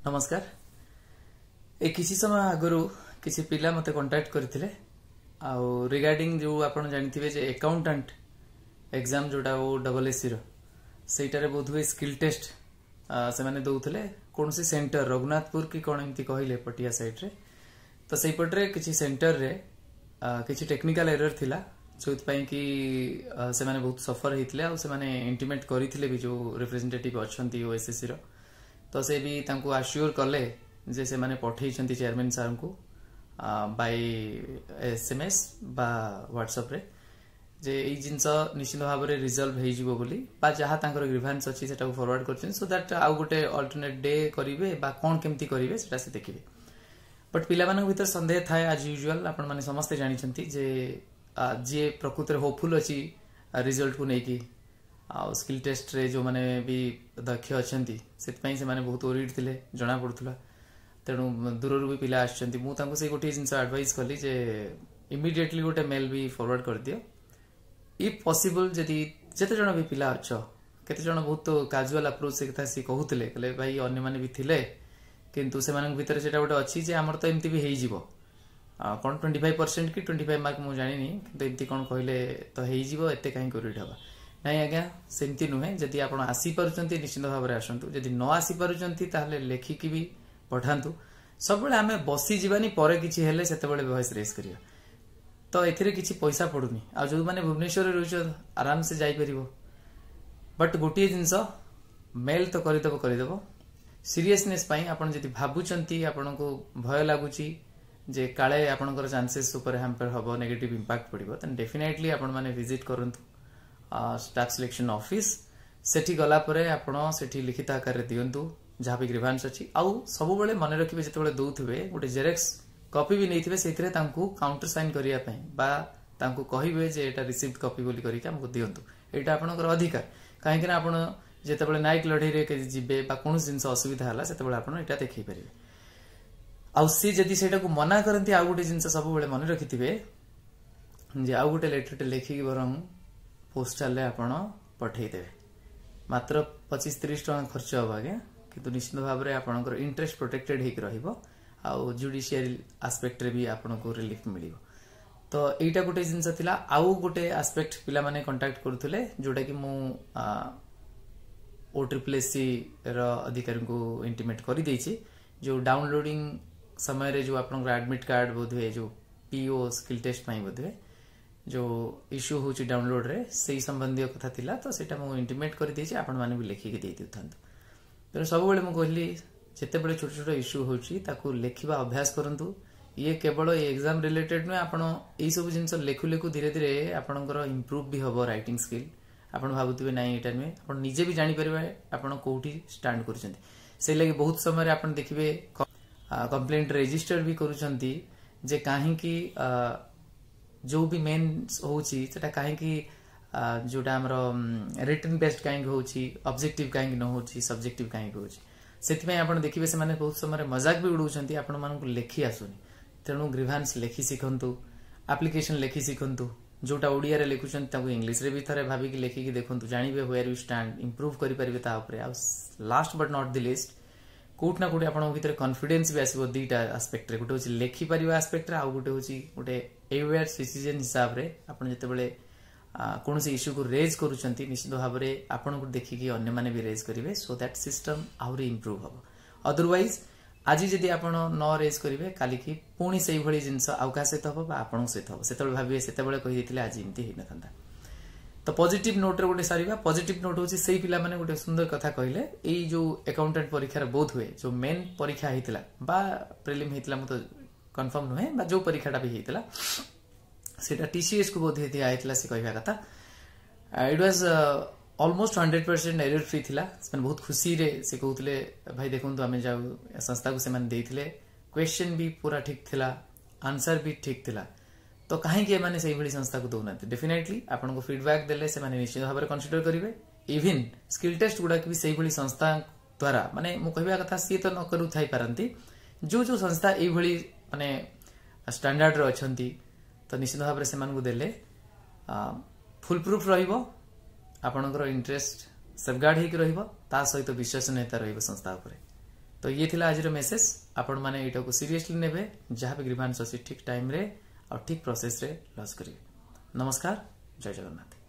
ନମସ୍କାର। ଏ କିଛି ସମୟ ଆଗରୁ କିଛି ପିଲା ମୋତେ କଣ୍ଟାକ୍ଟ କରିଥିଲେ ଆଉ ରିଗାର୍ଡିଂ ଯେଉଁ ଆପଣ ଜାଣିଥିବେ ଯେ ଆକାଉଣ୍ଟାଣ୍ଟ ଏକ୍ଜାମ ଯେଉଁଟା OSSCର, ସେଇଟାରେ ବୋଧହୁଏ ସ୍କିଲ୍ ଟେଷ୍ଟ ସେମାନେ ଦେଉଥିଲେ କୌଣସି ସେଣ୍ଟର, ରଘୁନାଥପୁର କି କ'ଣ ଏମିତି କହିଲେ, ପଟିଆ ସାଇଡ଼୍ରେ। ତ ସେଇପଟରେ କିଛି ସେଣ୍ଟରରେ କିଛି ଟେକ୍ନିକାଲ ଏରର ଥିଲା, ଯେଉଁଥିପାଇଁ କି ସେମାନେ ବହୁତ ସଫର ହେଇଥିଲେ। ଆଉ ସେମାନେ ଇଣ୍ଟିମେଟ୍ କରିଥିଲେ ବି ଯେଉଁ ରିପ୍ରେଜେଣ୍ଟେଟିଭ୍ ଅଛନ୍ତି ଓଏସ୍ଏସ୍ସିର, ତ ସେ ବି ତାଙ୍କୁ ଆସ୍ୟୁର କଲେ ଯେ ସେମାନେ ପଠେଇଛନ୍ତି ଚେୟାରମ୍ୟାନ୍ ସାର୍ଙ୍କୁ ବାଇ SMS ବା ହ୍ୱାଟ୍ସଆପ୍ରେ ଯେ ଏଇ ଜିନିଷ ନିଶ୍ଚିତ ଭାବରେ ରିଜଲ୍ଭ ହେଇଯିବ ବୋଲି, ବା ଯାହା ତାଙ୍କର ଗ୍ରିଭାନ୍ସ ଅଛି ସେଟାକୁ ଫରୱାର୍ଡ କରିଛନ୍ତି, ସୋ that ଆଉ ଗୋଟେ ଅଲ୍ଟରନେଟ୍ ଡେ କରିବେ ବା କ'ଣ କେମିତି କରିବେ ସେଟା ସେ ଦେଖିବେ। ବଟ୍ ପିଲାମାନଙ୍କ ଭିତରେ ସନ୍ଦେହ ଥାଏ ଆଜ୍ ୟୁଜୁଆଲ। ଆପଣମାନେ ସମସ୍ତେ ଜାଣିଛନ୍ତି ଯେ ଯିଏ ପ୍ରକୃତରେ ହୋପଫୁଲ୍ ଅଛି ରିଜଲ୍ଟକୁ ନେଇକି ଆଉ ସ୍କିଲ୍ ଟେଷ୍ଟରେ ଯେଉଁମାନେ ବି ଦକ୍ଷ ଅଛନ୍ତି, ସେଥିପାଇଁ ସେମାନେ ବହୁତ ଓରିଡ୍ ଥିଲେ, ଜଣାପଡ଼ୁଥିଲା। ତେଣୁ ଦୂରରୁ ବି ପିଲା ଆସିଛନ୍ତି। ମୁଁ ତାଙ୍କୁ ସେଇ ଗୋଟିଏ ଜିନିଷ ଆଡଭାଇସ୍ କଲି ଯେ ଇମିଡିଏଟଲି ଗୋଟେ ମେଲ୍ ବି ଫରୱାର୍ଡ କରିଦିଅ if possible, ଯଦି ଯେତେ ଜଣ ବି ପିଲା ଅଛ। କେତେ ଜଣ ବହୁତ କାଜୁଆଲ ଆପ୍ରୋଚ୍ ସେ କଥା ସିଏ କହୁଥିଲେ, କହିଲେ ଭାଇ ଅନ୍ୟମାନେ ବି ଥିଲେ, କିନ୍ତୁ ସେମାନଙ୍କ ଭିତରେ ସେଇଟା ଗୋଟେ ଅଛି ଯେ ଆମର ତ ଏମିତି ବି ହେଇଯିବ, କ'ଣ 25% କି 25 ମାର୍କ ମୁଁ ଜାଣିନି, କିନ୍ତୁ ଏମିତି କ'ଣ କହିଲେ ତ ହେଇଯିବ, ଏତେ କାହିଁକି ଓରିଡ୍ ହେବା। ନାଇଁ ଆଜ୍ଞା, ସେମିତି ନୁହେଁ। ଯଦି ଆପଣ ଆସିପାରୁଛନ୍ତି, ନିଶ୍ଚିତ ଭାବରେ ଆସନ୍ତୁ। ଯଦି ନ ଆସିପାରୁଛନ୍ତି, ତାହେଲେ ଲେଖିକି ବି ପଠାନ୍ତୁ। ସବୁବେଳେ ଆମେ ବସିଯିବାନି, ପରେ କିଛି ହେଲେ ସେତେବେଳେ ଭଏସ୍ ରେଜ୍ କରିବା। ତ ଏଥିରେ କିଛି ପଇସା ପଡୁନି ଆଉ ଯେଉଁମାନେ ଭୁବନେଶ୍ୱରରେ ରହୁଛ, ଆରାମସେ ଯାଇପାରିବ। ବଟ୍ ଗୋଟିଏ ଜିନିଷ, ମେଲ୍ ତ କରିଦେବ କରିଦେବ, ସିରିୟସନେସ୍ ପାଇଁ ଆପଣ ଯଦି ଭାବୁଛନ୍ତି, ଆପଣଙ୍କୁ ଭୟ ଲାଗୁଛି ଯେ କାଳେ ଆପଣଙ୍କର ଚାନ୍ସେସ୍ ଉପରେ ହ୍ୟାମ୍ପର ହେବ, ନେଗେଟିଭ୍ ଇମ୍ପାକ୍ଟ ପଡ଼ିବ, ଦେନ୍ ଡେଫିନେଟଲି ଆପଣମାନେ ଭିଜିଟ୍ କରନ୍ତୁ ଷ୍ଟାଫ୍ ସିଲେକ୍ସନ ଅଫିସ୍। ସେଠି ଗଲା ପରେ ଆପଣ ସେଠି ଲିଖିତ ଆକାରରେ ଦିଅନ୍ତୁ ଯାହା ବି ଗ୍ରିଭାନ୍ସ ଅଛି। ଆଉ ସବୁବେଳେ ମନେ ରଖିବେ, ଯେତେବେଳେ ଦଉଥିବେ ଗୋଟେ ଜେରେକ୍ସ କପି ବି ନେଇଥିବେ, ସେଇଥିରେ ତାଙ୍କୁ କାଉଣ୍ଟର ସାଇନ୍ କରିବା ପାଇଁ ବା ତାଙ୍କୁ କହିବେ ଯେ ଏଇଟା ରିସିଭ୍ଡ କପି ବୋଲି କରିକି ଆମକୁ ଦିଅନ୍ତୁ। ଏଇଟା ଆପଣଙ୍କର ଅଧିକାର, କାହିଁକି ନା ଆପଣ ଯେତେବେଳେ ନ୍ୟାୟିକ ଲଢ଼େଇରେ ଯିବେ ବା କୌଣସି ଜିନିଷ ଅସୁବିଧା ହେଲା, ସେତେବେଳେ ଆପଣ ଏଇଟା ଦେଖେଇ ପାରିବେ। ଆଉ ସିଏ ଯଦି ସେଇଟାକୁ ମନା କରନ୍ତି, ଆଉ ଗୋଟେ ଜିନିଷ ସବୁବେଳେ ମନେ ରଖିଥିବେ ଯେ ଆଉ ଗୋଟେ ଲେଟରଟେ ଲେଖିକି ବରଂ ପୋଷ୍ଟାଲରେ ଆପଣ ପଠେଇଦେବେ। ମାତ୍ର 25-30 ଟଙ୍କା ଖର୍ଚ୍ଚ ହେବ ଆଜ୍ଞା, କିନ୍ତୁ ନିଶ୍ଚିତ ଭାବରେ ଆପଣଙ୍କର ଇଣ୍ଟରେଷ୍ଟ ପ୍ରୋଟେକ୍ଟେଡ୍ ହେଇକି ରହିବ ଆଉ ଜୁଡିସିଆଲ ଆସ୍ପେକ୍ଟରେ ବି ଆପଣଙ୍କୁ ରିଲିଫ ମିଳିବ। ତ ଏଇଟା ଗୋଟେ ଜିନିଷ ଥିଲା। ଆଉ ଗୋଟେ ଆସ୍ପେକ୍ଟ ପିଲାମାନେ କଣ୍ଟାକ୍ଟ କରୁଥିଲେ, ଯୋଉଟାକି ମୁଁ OSSC ର ଅଧିକାରୀଙ୍କୁ ଇଣ୍ଟିମେଟ୍ କରିଦେଇଛି, ଯୋଉ ଡାଉନଲୋଡିଂ ସମୟରେ ଯୋଉ ଆପଣଙ୍କର ଆଡମିଟ୍ କାର୍ଡ ବୋଧହୁଏ ଯୋଉ ପିଓ ସ୍କିଲ୍ ଟେଷ୍ଟ ପାଇଁ ବୋଧହୁଏ ଯୋଉ ଇସ୍ୟୁ ହେଉଛି ଡାଉନଲୋଡରେ, ସେଇ ସମ୍ବନ୍ଧୀୟ କଥା ଥିଲା। ତ ସେଇଟା ମୁଁ ଇଣ୍ଟିମେଟ୍ କରିଦେଇଛି, ଆପଣମାନେ ବି ଲେଖିକି ଦେଇ ଦେଉଥାନ୍ତୁ। ତେଣୁ ସବୁବେଳେ ମୁଁ କହିଲି, ଯେତେବେଳେ ଛୋଟ ଛୋଟ ଇସ୍ୟୁ ହେଉଛି ତାକୁ ଲେଖିବା ଅଭ୍ୟାସ କରନ୍ତୁ। ଇଏ କେବଳ ଏ ଏକ୍ଜାମ ରିଲେଟେଡ୍ ନୁହେଁ, ଆପଣ ଏଇସବୁ ଜିନିଷ ଲେଖୁ ଲେଖୁ ଧୀରେ ଧୀରେ ଆପଣଙ୍କର ଇମ୍ପ୍ରୁଭ୍ ବି ହେବ ରାଇଟିଂ ସ୍କିଲ୍। ଆପଣ ଭାବୁଥିବେ ନାଇଁ ଏଇଟା ନୁହେଁ, ଆପଣ ନିଜେ ବି ଜାଣିପାରିବେ ଆପଣ କୋଉଠି ଷ୍ଟାଣ୍ଡ କରୁଛନ୍ତି। ସେଇ ଲାଗି ବହୁତ ସମୟରେ ଆପଣ ଦେଖିବେ କମ୍ପ୍ଲେଣ୍ଟ ରେଜିଷ୍ଟର ବି କରୁଛନ୍ତି ଯେ କାହିଁକି ଯୋଉ ବି ମେନ୍ ହଉଛି ସେଟା କାହିଁକି, ଯୋଉଟା ଆମର ରିଟନ୍ ବେସ୍ଡ କାହିଁକି ହଉଛି, ଅବଜେକ୍ଟିଭ କାହିଁକି ନ ହଉଛି, ସବଜେକ୍ଟିଭ କାହିଁକି ହଉଛି। ସେଥିପାଇଁ ଆପଣ ଦେଖିବେ ସେମାନେ ବହୁତ ସମୟରେ ମଜାକ ବି ଉଡଉଛନ୍ତି, ଆପଣମାନଙ୍କୁ ଲେଖି ଆସୁନି। ତେଣୁ ଗ୍ରିଭାନ୍ସ ଲେଖି ଶିଖନ୍ତୁ, ଆପ୍ଲିକେସନ ଲେଖି ଶିଖନ୍ତୁ। ଯୋଉଟା ଓଡ଼ିଆରେ ଲେଖୁଛନ୍ତି ତାକୁ ଇଂଲିଶରେ ବି ଥରେ ଭାବିକି ଲେଖିକି ଦେଖନ୍ତୁ, ଜାଣିବେ ହ୍ୱେୟାର you stand, improve କରିପାରିବେ ତା ଉପରେ। ଆଉ last but not the least, କୋଉଠି ନା କୋଉଠି ଆପଣଙ୍କ ଭିତରେ କନଫିଡେନ୍ସ ବି ଆସିବ ଦିଟା ଆସ୍ପେକ୍ଟରେ। ଗୋଟେ ହଉଛି ଲେଖିପାରିବା ଆସ୍ପେକ୍ଟରେ, ଆଉ ଗୋଟେ ହଉଛି ଗୋଟେ ଏୱେୟାର ସିଟିଜେନ୍ ହିସାବରେ ଆପଣ ଯେତେବେଳେ କୌଣସି ଇସ୍ୟୁକୁ ରେଜ୍ କରୁଛନ୍ତି, ନିଶ୍ଚିତ ଭାବରେ ଆପଣଙ୍କୁ ଦେଖିକି ଅନ୍ୟମାନେ ବି ରେଜ୍ କରିବେ, ସୋ that system ଆହୁରି ଇମ୍ପ୍ରୁଭ୍ ହବ। ଅଦରୱାଇଜ ଆଜି ଯଦି ଆପଣ ନ ରେଜ୍ କରିବେ, କାଲିକି ପୁଣି ସେଇଭଳି ଜିନିଷ ଆଉ କାହା ସହିତ ହବ ବା ଆପଣଙ୍କ ସହିତ ହବ। ସେତେବେଳେ ଭାବିବେ ସେତେବେଳେ କହିଦେଇଥିଲେ ଆଜି ଏମିତି ହେଇନଥାନ୍ତା। ତ ପଜିଟିଭ ନୋଟରେ ଗୋଟେ ସାରିବା। ପଜିଟିଭ ନୋଟ ହଉଛି ସେଇ ପିଲାମାନେ ଗୋଟେ ସୁନ୍ଦର କଥା କହିଲେ। ଏଇ ଯୋଉ ଆକାଉଣ୍ଟାଣ୍ଟ ପରୀକ୍ଷାର ବୋଧ ହୁଏ ଯୋଉ ମେନ୍ ପରୀକ୍ଷା ହେଇଥିଲା ବା ପ୍ରିଲିମ୍ ହେଇଥିଲା, ମୁଁ ତ କନଫର୍ମ ନୁହେଁ, ବା ଯୋଉ ପରୀକ୍ଷାଟା ବି ହେଇଥିଲା ସେଇଟା ଟିସିଏସ୍ କୁ ବୋଧ ଦିଆ ହେଇଥିଲା। ସେ କହିବା କଥା it was almost 100% error free ଥିଲା। ସେମାନେ ବହୁତ ଖୁସିରେ ସେ କହୁଥିଲେ, ଭାଇ ଦେଖନ୍ତୁ, ଆମେ ଯାଉ ସଂସ୍ଥାକୁ ସେମାନେ ଦେଇଥିଲେ, କ୍ୱେଶ୍ଚନ ବି ପୁରା ଠିକ ଥିଲା, ଆନ୍ସର ବି ଠିକ ଥିଲା, ତ କାହିଁକି ଏମାନେ ସେଇଭଳି ସଂସ୍ଥାକୁ ଦଉନାହାନ୍ତି? ଡେଫିନେଟଲି ଆପଣଙ୍କୁ ଫିଡବ୍ୟାକ୍ ଦେଲେ ସେମାନେ ନିଶ୍ଚିତ ଭାବରେ କନସିଡର କରିବେ। ଇଭିନ୍ ସ୍କିଲ୍ ଟେଷ୍ଟ ଗୁଡାକ ବି ସେଇଭଳି ସଂସ୍ଥା ଦ୍ୱାରା, ମାନେ ମୁଁ କହିବା କଥା ସିଏ ତ ନ କରୁଥାଇ ପାରନ୍ତି, ଯୋଉ ଯୋଉ ସଂସ୍ଥା ଏଇଭଳି ମାନେ ଷ୍ଟାଣ୍ଡାର୍ଡରେ ଅଛନ୍ତି, ତ ନିଶ୍ଚିତ ଭାବରେ ସେମାନଙ୍କୁ ଦେଲେ ଫୁଲ୍ ପ୍ରୁଫ୍ ରହିବ, ଆପଣଙ୍କର ଇଣ୍ଟରେଷ୍ଟ ସେଫଗାର୍ଡ ହେଇକି ରହିବ, ତା ସହିତ ବିଶ୍ୱାସନୀୟତା ରହିବ ସଂସ୍ଥା ଉପରେ। ତ ଇଏ ଥିଲା ଆଜିର ମେସେଜ। ଆପଣମାନେ ଏଇଟାକୁ ସିରିୟସଲି ନେବେ, ଯାହା ବି ଗ୍ରିଭାନ୍ସ ଅଛି ଠିକ୍ ଟାଇମ୍ରେ ଆଉ ଠିକ୍ ପ୍ରୋସେସ୍ରେ ଲଜ୍ କରିବେ। ନମସ୍କାର, ଜୟ ଜଗନ୍ନାଥ।